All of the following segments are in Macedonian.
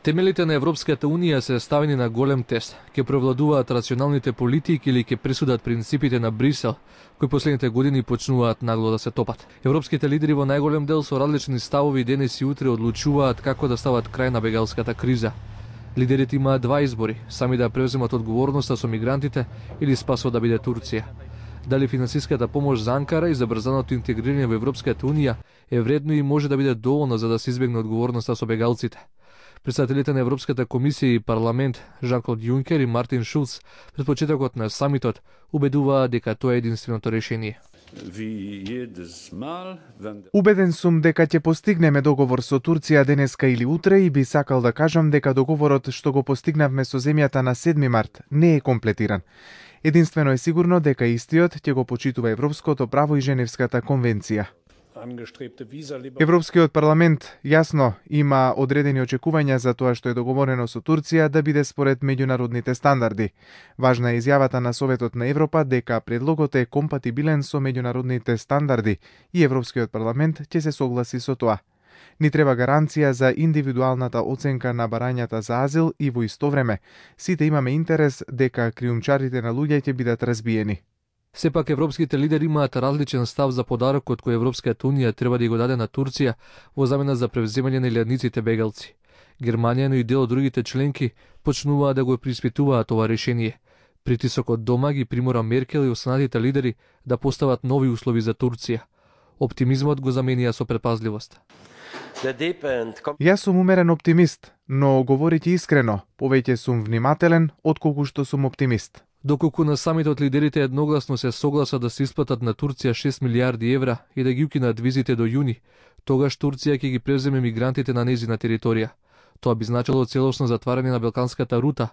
Темелите на Европската Унија се ставени на голем тест. Ке превладуваат рационалните политики или ке пресудат принципите на Брисел, кои последните години почнуваат нагло да се топат. Европските лидери во најголем дел со различни ставови денес и утре одлучуваат како да стават крај на бегалската криза. Лидерите имаат два избори: сами да превземат одговорноста со мигрантите или спасот да биде Турција. Дали финансиската помош за Анкара и забрзаното интегрирање во Европската Унија е вредно и може да биде доволно за да се избегне одговорноста со бегалците. Претседателите на Европската комисија и парламент Жан-Клод Јункер и Мартин Шулц пред почетокот на самитот убедуваа дека тоа е единственото решение. Убеден сум дека ќе постигнеме договор со Турција денеска или утре и би сакал да кажам дека договорот што го постигнавме со земјата на 7 март не е комплетиран. Единствено е сигурно дека истиот ќе го почитува европското право и Женевската конвенција. Европскиот парламент јасно има одредени очекувања за тоа што е договорено со Турција да биде според меѓународните стандарди. Важна е изјавата на Советот на Европа дека предлогот е компатибилен со меѓународните стандарди и Европскиот парламент ќе се согласи со тоа. Ни треба гаранција за индивидуалната оценка на барањата за азил и во исто време сите имаме интерес дека криумчарите на луѓе ќе бидат разбиени. Сепак европските лидери имаат различен став за подарокот кој Европската Унија треба да го даде на Турција во замена за превземање на илјадниците бегалци. Германија, но и дел од другите членки почнуваа да го приспитуваат ова решение. Притисокот дома ги примора Меркел и останатите лидери да постават нови услови за Турција. Оптимизмот го заменија со предпазливост. Јас сум умерен оптимист, но говорејќи искрено, повеќе сум внимателен отколку што сум оптимист. Доколку на самитот лидерите едногласно се согласат да се исплатат на Турција 6 милиарди евра и да ги укинат визите до јуни, тогаш Турција ќе ги превземе мигрантите на нејзина територија. Тоа би значило целосно затварање на Балканската рута.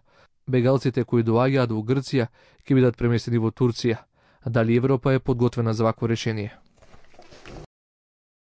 Бегалците кои доаѓаат во Грција ќе бидат преместени во Турција. Дали Европа е подготвена за вакво решение?